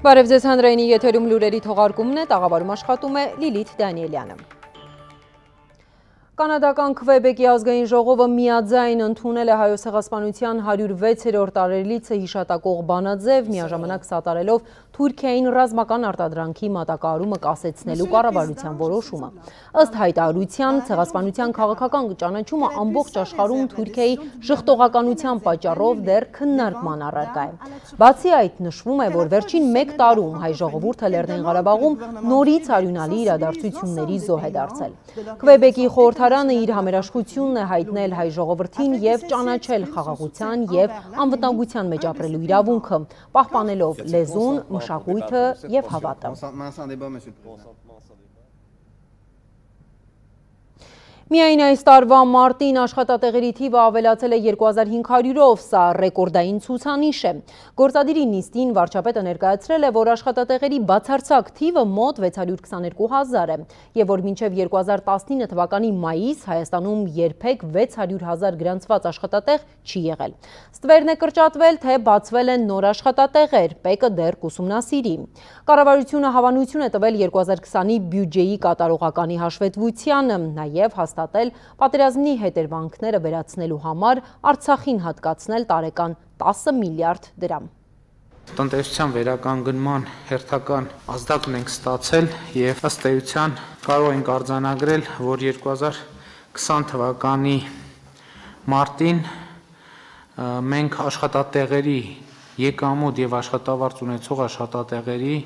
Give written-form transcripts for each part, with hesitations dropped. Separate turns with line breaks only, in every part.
Բարև ձեզ հանրայինի եթերում լուրերի թողարկումն է, տաղավարում աշխատում է Լիլիթ Դանիելյանը։ Կանադական Քվեբեկի ազգային ժողովը միաձայն ընդունել է Հայոց ցեղասպանության 106-րդ տարելիցը հիշատակող բանաձև, միաժամանակ սատարելով Թուրքիային ռազմական արտադրանքի մատակարարումը կասեցնելու կառավարության որոշումը։ Ըստ հայտարարության, ցեղասպանության քաղաքական ճանաչումը ամբողջ աշխարհում Թուրքիայի ժխտողականության պատճառով դեռ քննարկման առարկա է։ Բացի այդ, նշվում է, որ վերջին 1 տարում հայ ժողովուրդը Լեռնային Ղարաբաղում նորից արյունալի իրադարձությունների զոհ է դարձել։ Քվեբեկի խորհրդարանը իր համերաշխությունն է հայտնել հայ ժողովրդին եւ ճանաչել խաղաղության եւ անվտանգության մեջ ապրելու իրավունքը, պահպանելով լեզուն, մշակույթը եւ հավատը։ Միայն այս տարվա մարտին աշխատատեղերի թիվը ավելացել է 2500-ով, սա ռեկորդային ցուցանիշ է։ Գործադիրի նիստին վարչապետը ներկայացրել է, որ աշխատատեղերի բացարձակ թիվը մոտ 622,000 է, եւ որ մինչև 2019 թվականի մայիս Հայաստանում երբեք 600,000 գրանցված աշխատատեղ չի եղել։ Ստվերն է կրճատվել, թե բացվել են նոր աշխատատեղեր, ՊԵԿ-ը դեռ կուսումնասիրի։ Կառավարությունը հավանություն է տվել 2020-ի բյուջեի կատարողականի հաշվետվությանը, նաեւ հաստատել պատերազմի հետևանքները վերացնելու համար Արցախին հատկացնել տարեկան 10 միլիարդ դրամ։
Տնտեսության վերականգնման հերթական ազդակն ենք ստացել եւ ըստ էության կարող ենք արձանագրել, որ 2020 թվականի մարտին մենք աշխատատեղերի եկամուտ եւ աշխատավարձ ունեցող աշխատատեղերի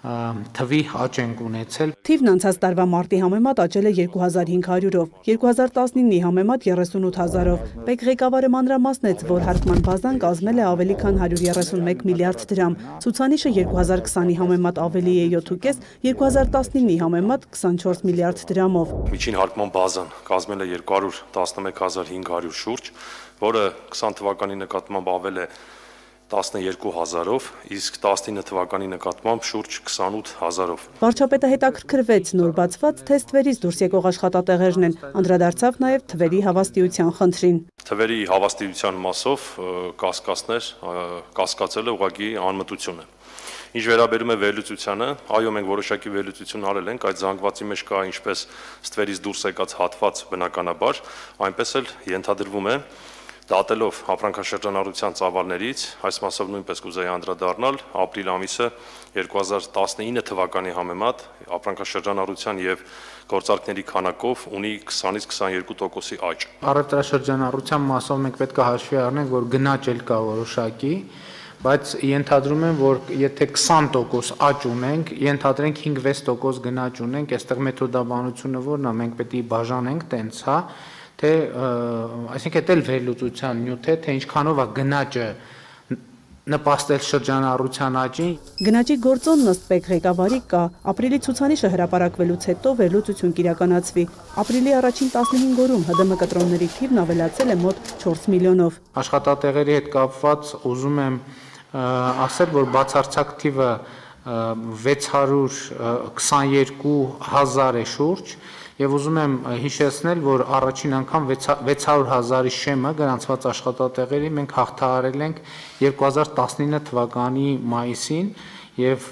թվի աճ ենք ունեցել։
Թիվն անցած տարվա մարտի համեմատ աճել է 2500-ով, 2019-ի համեմատ 38,000-ով։ ՊԵԿ ղեկավարը մանրամասնեց, որ հարկման բազան կազմել է ավելի քան 131 միլիարդ դրամ։ Ցուցանիշը 2020-ի համեմատ ավելի է 7,5, 2019-ի համեմատ 24 միլիարդ դրամով։
Միջին հարկման բազան կազմել է 211,500 շուրջ, որը 20 թվականի նկատմամբ ավել է 12,000-ով, իսկ 19 թվականի նկատմամբ շուրջ 28,000-ով։
Վարչապետը հետաքրքրվեց նոր բացված թե ստվերից դուրս եկող աշխատատեղերն են, անդրադարձավ նաև թվերի հավաստիության խնդրին։
Թվերի հավաստիության մասով կասկածել է ուղղակի անմտությունը։ Ինչ վերաբերում է վերլուծությանը, այո, մենք որոշակի վերլուծություն արել ենք, այդ զանգվածի մեջ կա ինչպես ստվերից դուրս եկած հատված բնականաբար, այնպես էլ ենթադրվում է, դատելով ապրանքաշրջանառության ծավալներից, այս մասով նույնպես կուզեի անդրադառնալ, ապրիլ ամիսը 2019 թվականի համեմատ ապրանքաշրջանառության եւ գործարքների քանակով ունի 20-ից 22%-ի աճ։
Առևտրաշրջանառության մասով մենք պետք է հաշվի առնենք, որ գնաճ էլ կա որոշակի, բայց ենթադրում եմ, որ եթե 20% աճ ունենք, ենթադրենք 5-6% գնաճ ունենք, այստեղ մեթոդաբանությունը որն է, մենք պետք է բաժանենք տենց, հա, թե այսինքն դա էլ վերլուծության նյութ է, թե ինչքանով է գնաճը նպաստել շրջանառության աճին։
Գնաճի գործոնն ըստ ՊԵԿ ղեկավարի կա, ապրիլի ցուցանիշը հրապարակվելուց հետո վերլուծություն կիրականացվի։ Ապրիլի առաջին 15 օրում ՀԴՄ կտրոնների թիվն ավելացել է մոտ 4 միլիոնով։
Աշխատատեղերի հետ կապված ուզում եմ ասել, որ բացարձակ թիվը 622,000 է շուրջ, եւ ուզում եմ հիշեցնել, որ առաջին անգամ 600,000-ի շեմը գրանցված աշխատատեղերի մենք հաղթահարել ենք 2019 թվականի մայիսին եւ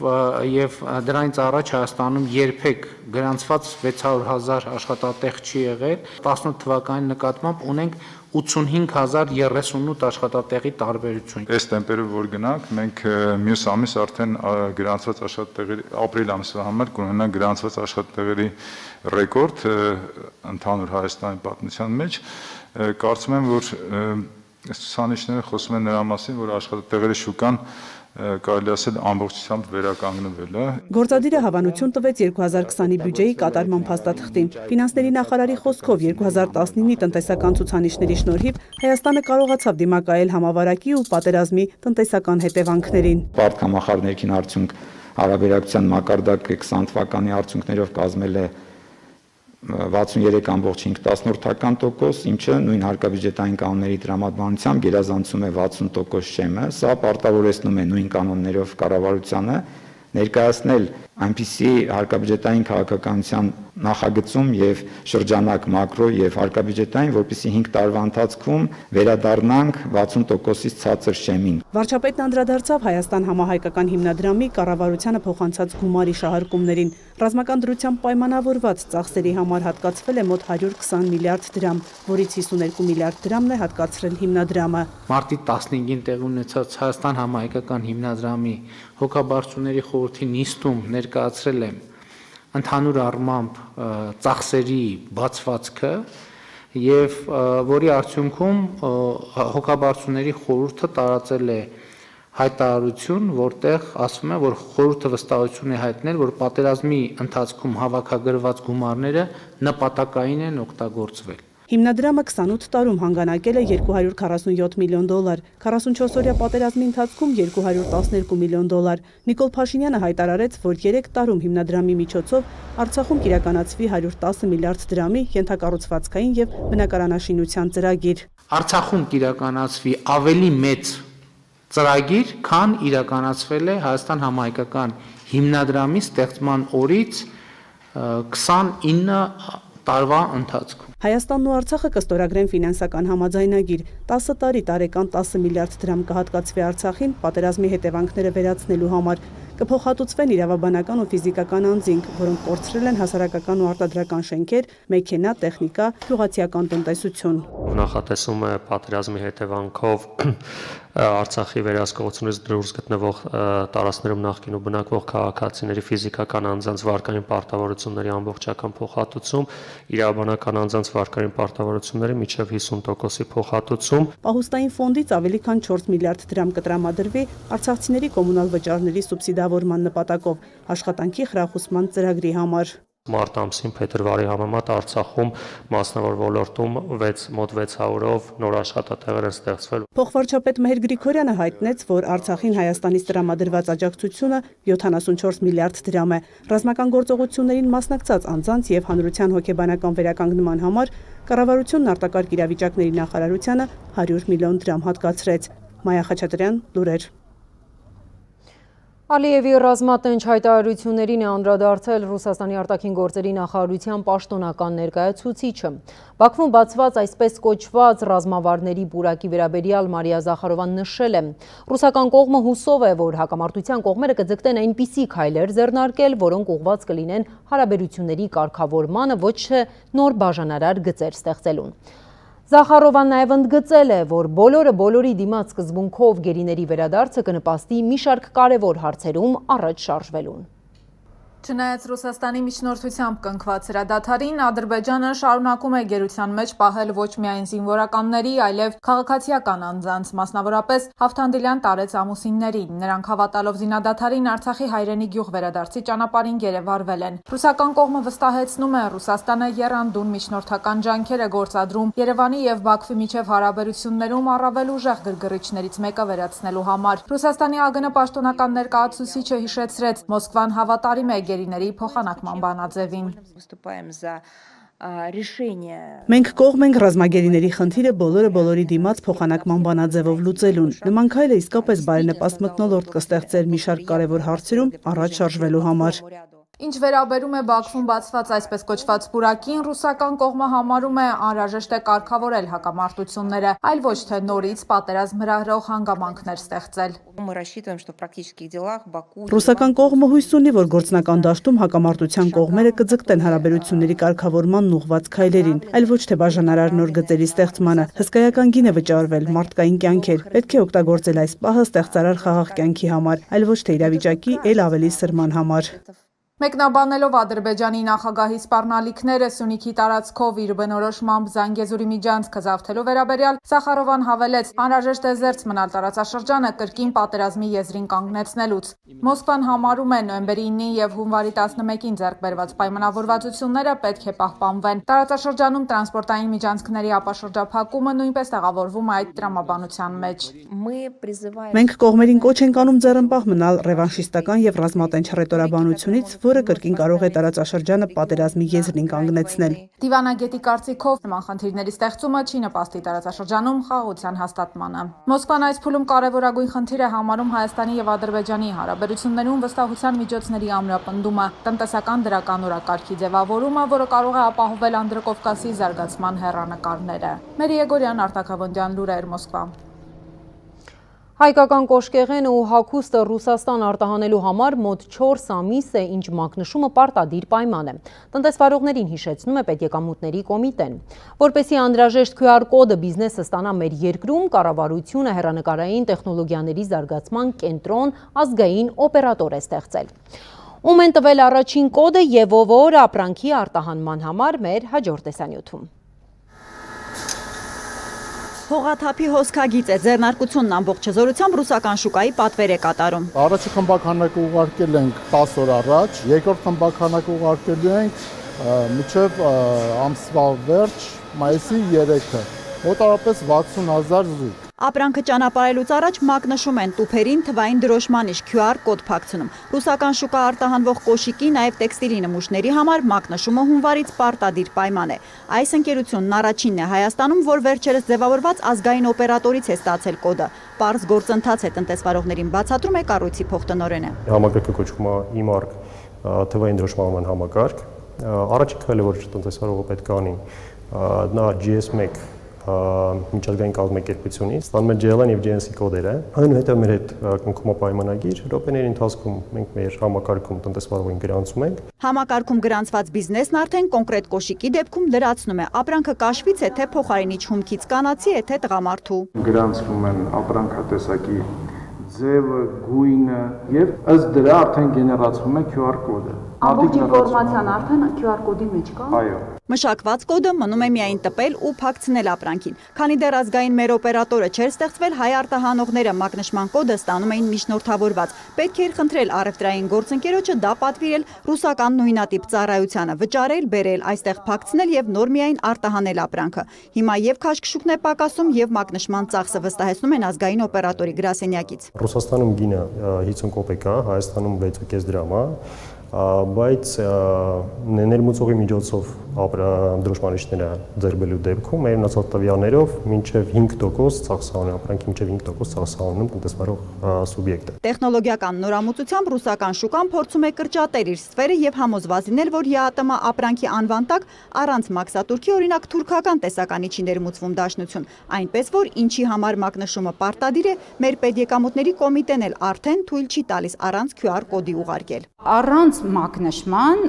դրանից առաջ Հայաստանում երբեք գրանցված 600,000 աշխատատեղ չի եղել։ 18 թվականի նկատմամբ ունենք 85,038 աշխատատեղի տարբերություն։
Այս տեմպերով որ գնանք, մենք մյուս ամիս արդեն գրանցված աշխատատեղերի ապրիլ ամսվա համար կունենանք գրանցված աշխատատեղերի ռեկորդ ընդհանուր Հայաստանի պատմության մեջ։ Կարծում եմ, որ ցուցանիշները խոսում են նրա մասին, որ աշխատատեղերի շուկան կարելի ասել ամբողջությամբ վերականգնվել է։
Գործադիրը հավանություն տվեց 2020-ի բյուջեի կատարման փաստաթղթին։ Ֆինանսների նախարարի խոսքով 2019-ի տնտեսական ցուցանիշների շնորհիվ Հայաստանը կարողացավ դիմակայել համավարակի ու պատերազմի տնտեսական հետևանքներին։
Բարդ համախառն ներքին արդյունք հարաբերակցության մակարդակը 20 թվականի արդյունքներով կազմել է 63,5%, ինչը նույն հարկաբյուջետային կանոնների տրամադրությամբ գերազանցում է 60% շեմը, սա պարտավորեցնում է նույն կանոններով կառավարությանը ներկայացնել այնպիսի հարկաբյուջետային քաղաքականության նախագծում եւ շրջանակ մակրո եւ հարկաբյուջետային, որպեսզի 5 տարվա ընթացքում վերադառնանք 60%-ից ցածր շեմին։
Վարչապետն անդրադարձավ Հայաստան համահայկական հիմնադրամի կառավարությանը փոխանցած գումարի շահարկումներին։ Ռազմական դրությամբ պայմանավորված ծախսերի համար հատկացվել է մոտ 120 միլիարդ դրամ, որից 52 միլիարդ դրամն է հատկացրել հիմնադրամը։
Մարտի 15-ին տեղի ունեցած Հայաստան համահայկական հիմնադրամի հոգաբարձուների խորհրդի նիստում ներկայացրել եմ ընդհանուր առմամբ ծախսերի բացվածքը եւ որի արդյունքում հոգաբարձուների խորհուրդը տարածել է հայտարարություն, որտեղ ասվում է, որ խորհուրդը վստահություն է հայտնել, որ պատերազմի ընթացքում հավաքագրված գումարները նպատակային են օգտագործվել։
Հիմնադրամը 28 տարում հանգանակել է $247 միլիոն, 44-օրյա պատերազմի ընթացքում $212 միլիոն։ Նիկոլ Փաշինյանը հայտարարեց, որ 3 տարում հիմնադրամի միջոցով Արցախում կիրականացվի 110 միլիարդ դրամի ենթակառուցվածքային եւ բնակարանաշինության ծրագիր։
Արցախում կիրականացվի ավելի մեծ ծրագիր, քան իրականացվել է Հայաստան համահայկական հիմնադրամի ստեղծման օրից 29 տարվա ընթացքում։
Հայաստանն ու Արցախը կստորագրեն ֆինանսական համաձայնագիր։ 10 տարի տարեկան 10 միլիարդ դրամ կհատկացվի Արցախին պատերազմի հետևանքները վերացնելու համար։ Կփոխհատուցվեն իրավաբանական ու ֆիզիկական անձինք, որոնք կորցրել են հասարակական ու արտադրական շենքեր, մեքենա, տեխնիկա, գյուղացիական տնտեսություն։
Նախատեսում է պատերազմի հետևանքով Արցախի վերահսկողությունից դուրս գտնվող տարածքներում նախկինում բնակվող քաղաքացիների ֆիզիկական անձանց վարկային պարտավորությունների ամբողջական փոխհատուցում, իրավաբանական անձանց վարկային պարտավորությունների մինչև 50%-ի փոխհատուցում։
Պահուստային ֆոնդից ավելի քան 4 միլիարդ դրամ կտրամադրվի արցախցիների կոմունալ վճարների սուբսիդավորման նպատակով աշխատանքի խրախուսման ծրագրի համար։
Մարտ ամսին փետրվարի համեմատ Արցախում մասնավոր ոլորտում մոտ 600-ով նոր աշխատատեղեր են ստեղծվել։
Փոխվարչապետ Մհեր Գրիգորյանը հայտնեց, որ Արցախին Հայաստանից տրամադրված աջակցությունը 74 միլիարդ դրամ է։ Ռազմական գործողություններին մասնակցած անձանց եւ հանրության հոգեբանական վերականգնման համար կառավարությունն արտակարգ իրավիճակների նախարարությանը 100 միլիոն դրամ հատկացրեց։ Մայա Խաչատրյան, լուրեր։
Ալիևի ռազմատենչ հայտարարություններին է անդրադարձել Ռուսաստանի արտաքին գործերի նախարարության պաշտոնական ներկայացուցիչը։ Բաքվում բացված այսպես կոչված ռազմավարների պուրակի վերաբերյալ Մարիա Զախարովան նշել է. Ռուսական կողմը հուսով է, որ հակամարտության կողմերը կձգտեն այնպիսի քայլեր ձեռնարկել, որոնք ուղղված կլինեն հարաբերությունների կարգավորմանը, ոչ թե նոր բաժանարար գծեր ստեղծելուն։ Զախարովան նաև ընդգծել է, որ բոլորը բոլորի դիմաց սկզբունքով գերիների վերադարձը կնպաստի մի շարք կարևոր հարցերում առաջ շարժվելուն։
Չնայած Ռուսաստանի միջնորդությամբ կնքված հրադադարին, Ադրբեջանը շարունակում է գերության մեջ պահել ոչ միայն զինվորականների, այլև քաղաքացիական անձանց, մասնավորապես Հավթանդիլյան տարեց ամուսիններին։ Նրանք հավատալով զինադադարին Արցախի հայրենի գյուղ վերադարձի ճանապարհին գերեվարվել են։ Ռուսական կողմը վստահեցնում է, Ռուսաստանը եռանդուն միջնորդական ջանքեր է գործադրում Երևանի եւ Բաքվի միջև հարաբերություններում առավել ուժեղ գրգռիչներից մեկը վերացնելու համար։ Ռուսաստանի ԱԳՆ պաշտոնական ներկայացուցիչը հիշեցրեց, Մոսկվան հավատարիմ է գերիների փոխանակման բանաձևին։
Մենք կողմ ենք ռազմագերիների խնդիրը բոլորի դիմաց փոխանակման բանաձևով լուծելուն։ Նման քայլը իսկապես բարենպաստ մթնոլորտ կստեղծեր մի շարք կարևոր հարցերում առաջ շարժվելու համար։
Ինչ վերաբերում է Բաքվում բացված այսպես կոչված պուրակին, ռուսական կողմը համարում է անհրաժեշտ է կարգավորել հակամարտությունները, այլ ոչ թե նորից պատերազմ հրահրող հանգամանքներ ստեղծել։
Ռուսական կողմը հույս ունի, որ գործնական դաշտում հակամարտության կողմերը կձգտեն հարաբերությունների կարգավորմանն ուղղված քայլերին, այլ ոչ թե բաժանարար նոր գծերի ստեղծմանը։ Հսկայական գին է վճարվել, մարդկային կյանքեր։ Պետք է օգտագործել այս պահը ստեղծարար խաղաղ կյանքի համար, այլ ոչ թե իրավիճակի ել ավելի սրման համար։
Մեկնաբանելով Ադրբեջանի նախագահի սպառնալիքները Սյունիքի տարածքով իր բնորոշմամբ Զանգեզուրի միջանցքը զավթելու վերաբերյալ, Զախարովան հավելեց, անհրաժեշտ է զերծ մնալ տարածաշրջանը կրկին պատերազմի եզրին կանգնեցնելուց։ Մոսկվան համարում է նոյեմբերի 9-ին եւ հունվարի 11-ին ձեռք բերված պայմանավորվածությունները պետք է պահպանվեն։ Տարածաշրջանում տրանսպորտային միջանցքների ապաշրջափակումը նույնպես տեղավորվում է այդ տրամաբանության մեջ։
Մենք կողմերին կոչ ենք անում ձեռնպահ մնալ ռևանշիստական եւ ռազմատենչ հռետորաբանությունից, որը կրկին կարող է տարածաշրջանը պատերազմի եզրին կանգնեցնել։
Դիվանագետի կարծիքով նման խնդիրների ստեղծումը չի նպաստի տարածաշրջանում խաղաղության հաստատմանը։ Մոսկվան այս փուլում կարևորագույն խնդիր է համարում Հայաստանի եւ Ադրբեջանի հարաբերություններում վստահության միջոցների ամրապնդումը, տնտեսական դրական օրակարգի ձևավորումը, որը կարող է ապահովել Անդրկովկասի զարգացման հեռանկարները։ Մերի Եգորյան, Արտակավոնդյան լուրեր, Մոսկվա։
Հայկական կոշկեղենը ու հագուստը Ռուսաստան արտահանելու համար մոտ 4 ամիս է, ինչ մակնշումը պարտադիր պայման է։ Տնտեսվարողներին հիշեցնում է Պետեկամուտների կոմիտեն։ Որպեսզի անհրաժեշտ QR կոդը բիզնեսը ստանա մեր երկրում, կառավարությունը հեռանկարային տեխնոլոգիաների զարգացման կենտրոն ազգային օպերատոր է ստեղծել։ Ում են տվել առաջին կոդը եւ ով ապրանքի արտահանման համար մեր հաջորդ տեսանյութում։
Հողաթափի հոսքագիծ է, ձեռնարկությունն ամբողջ հզորությամբ ռուսական շուկայի պատվեր է կատարում։
Առաջի խմբականակը ուղարկել ենք 10 օր առաջ, երկրորդ խմբականակը ուղարկելու ենք մինչև ամսվա վերջ, մայիսի 3-ը, մոտավորապես 60,000 զույգ։
Ապրանքը ճանապարհելուց առաջ մակնշում են տուփերին թվային դրոշմանիշ QR կոդ փակցնում։ Ռուսական շուկա արտահանվող կոշիկի, նաև տեքստիլի նմուշների համար մակնշումը հունվարից պարտադիր պայման է։ Այս ընկերությունն առաջինն է Հայաստանում, որ վերջերս ձևավորված ազգային օպերատորից է ստացել կոդը։ Պարզ գործընթաց է, տնտեսվարողներին բացատրում է կառույցի փոխտնօրենը։
Համակարգը կոչվում է e-mark թվային դրոշմանման համակարգ։ Առաջին քայլը, որ տնտեսվարողը պետք է անի, նա GS1 միջազգային կազմակերպությունից ստանում է GLN եւ GNC կոդերը, այնուհետեւ մեր հետ կնքում է պայմանագիր, րոպեների ընթացքում մենք մեր համակարգում տնտեսվարողին գրանցում ենք։
Համակարգում գրանցված բիզնեսն արդեն կոնկրետ կոշիկի դեպքում լրացնում է, ապրանքը կաշվից է թե փոխարինիչ հումքից կանացի է թե տղամարդու։
Գրանցվում են ապրանքատեսակի ձևը, գույնը եւ ըստ դրա արդեն գեներացվում է QR կոդը։
Ամբողջ ինֆորմացիան արդեն QR կոդի մեջ կա։
Այո։
Մշակված կոդը մնում է միայն տպել ու փակցնել ապրանքին։ Քանի դեռ ազգային մեր օպերատորը չէր ստեղծվել, հայ արտահանողները մակնշման կոդը ստանում էին միջնորդավորված։ Պետք էր խնդրել առևտրային գործընկերոջը դա պատվիրել ռուսական նույնատիպ ծառայությանը, վճարել, բերել, այստեղ փակցնել եւ նոր միայն արտահանել ապրանքը։ Հիմա եւ քաշքշուկն է պակասում եւ մակնշման ծախսը, վստահեցնում են ազգային օպերատորի գրասենյակից։
Ռուսաստանում գինը 50 կոպեկ է, Հայաստանում 6.5 դրամ է, բայց ներմուծողի միջոցով դրոշմանիշները ձեռբելու դեպքում մեր ունեցած տվյալներով մինչև 5% ծախսանում, ապրանքի մինչև 5% ծախսանում տնտեսվարող սուբյեկտը։
Տեխնոլոգիական նորամուծությամբ ռուսական շուկան փորձում է կրճատել իր սֆերը եւ համոզված լինել, որ ԵԱՏՄ ապրանքի անվան տակ առանց մաքսատուրքի, օրինակ թուրքական տեսականի չի ներմուծվում դաշնություն, այնպես որ ինչի համար մակնշումը պարտադիր է, մեր պետեկամուտների կոմիտեն էլ արդեն թույլ չի տալիս առանց QR կոդի ուղարկել։
Առանց մակնշման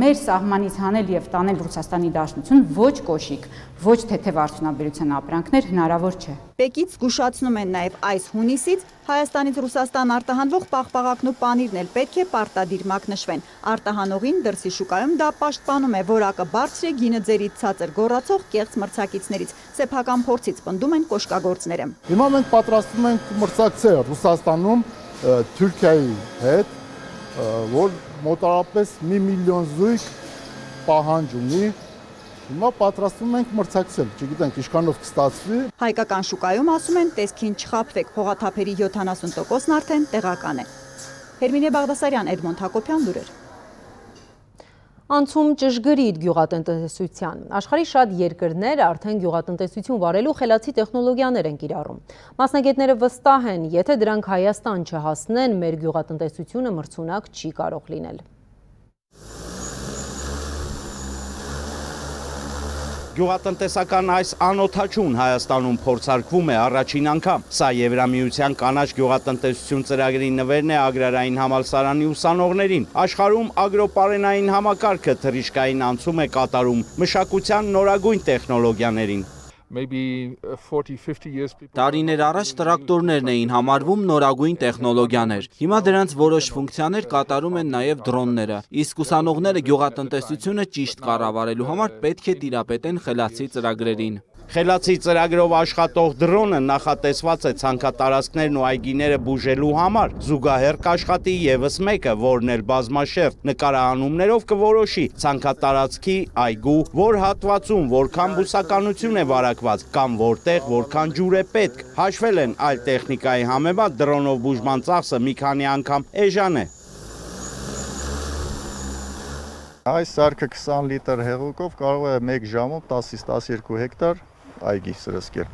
մեր սահմանից հանել եւ տանել Ռուսաստանի Դաշնություն ոչ կոշիկ, ոչ թեթև արդյունաբերության ապրանքներ հնարավոր չէ։
Պեկից զգուշացնում են նաև այս հունիսից Հայաստանից Ռուսաստան արտահանվող պաղպաղակն ու պանիրն էլ պետք է պարտադիր մակնշվեն։ Արտահանողին դրսի շուկայում դա պաշտպանում է որակը բարձր է, գինը ձերից ցածր գոռացող կեղծ մրցակիցներից։ Սեփական փորձից պնդում են կոշկագործները։
Հիմա մենք պատրաստվում ենք մրցակցել Ռուսաստանում Թուրքիայի հետ, որ մոտավորապես 1 միլիոն զույգ պահանջ ունի։ Հիմա պատրաստվում ենք մրցակցել, չգիտենք ինչքանով կստացվի։
Հայկական շուկայում ասում են տեսքին չխաբվեք, հողաթափերի 70%-ն արդեն տեղական է։ Հերմինե Բաղդասարյան, Էդմոնդ Հակոբյան, լուրեր։
Անցում ճշգրիտ գյուղատնտեսության։ Աշխարհի շատ երկրներ արդեն գյուղատնտեսություն վարելու խելացի տեխնոլոգիաներ են կիրառում։ Մասնագետները վստահ են, եթե դրանք Հայաստան չհասնեն, մեր գյուղատնտեսությունը մրցունակ չի կարող լինել։
Գյուղատնտեսական այս անօթաչուն Հայաստանում փորձարկվում է առաջին անգամ։ Սա Եվրամիության կանաչ գյուղատնտեսություն ծրագրի նվերն է Ագրարային համալսարանի ուսանողներին։ Աշխարհում ագրոպարենային համակարգը թռիչքային անցում է կատարում մշակության նորագույն տեխնոլոգիաներին։
Տարիներ առաջ տրակտորներն էին համարվում նորագույն տեխնոլոգիաներ։ Հիմա դրանց որոշ ֆունկցիաներ կատարում են նաև դրոնները։ Իսկ ուսանողները գյուղատնտեսությունը ճիշտ կառավարելու համար պետք է տիրապետեն խելացի ծրագրերին։
Խելացի ծրագրով աշխատող դրոնը նախատեսված է ցանքատարածքներն ու այգիները բուժելու համար։ Զուգահեռ կաշխատի եւս մեկը, որն էլ բազմաշերտ նկարահանումներով կորոշի ցանքատարածքի այգու, որ հատվածում որքան բուսականություն է վարակված կամ որտեղ որքան ջուր է պետք։ Հաշվել են այլ տեխնիկայի համեմատ դրոնով բուժման ծախսը մի քանի անգամ էժան է։
Այս սարքը 20 լիտր հեղուկով կարող է 1 ժամում 10-ից 12 հեկտար այգի սրսկել։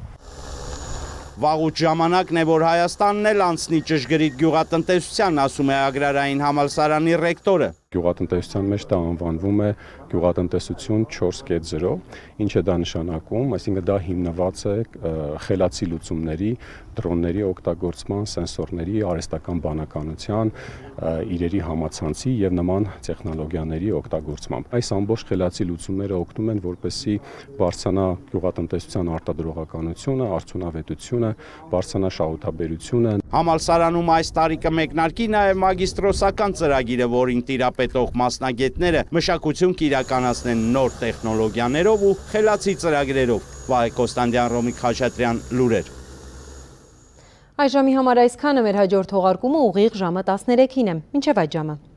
Վաղուց ժամանակն է, որ Հայաստանն էլ անցնի ճշգրիտ գյուղատնտեսության, ասում է Ագրարային համալսարանի ռեկտորը։
Գյուղատնտեսության մեջ դա անվանվում է գյուղատնտեսություն 4.0, ինչ է դա նշանակում, այսինքն դա հիմնված է խելացի լուծումների, դրոնների օգտագործման, սենսորների, արհեստական բանականության, իրերի համացանցի եւ նման տեխնոլոգիաների օգտագործմամբ։ Այս ամբողջ խելացի լուծումները օգնում են, որպեսզի բարձրանա գյուղատնտեսության արտադրողականությունը, արդյունավետությունը, բարձրանա շահութաբերությունը։
Համալսարանում այս տարի կմեկնարկի նաեւ մագիստրոսական ծրագիրը, որին տիրապետող մասնագետները մշակություն կիրականացնեն նոր տեխնոլոգիաներով ու խելացի ծրագրերով։ Վահե Կոստանդյան, Ռոմիկ Խաչատրյան, լուրեր։
Այս ժամի համար այսքանը, մեր հաջորդ թողարկումը ուղիղ ժամը 13-ին է։ Մինչև այդ ժամը։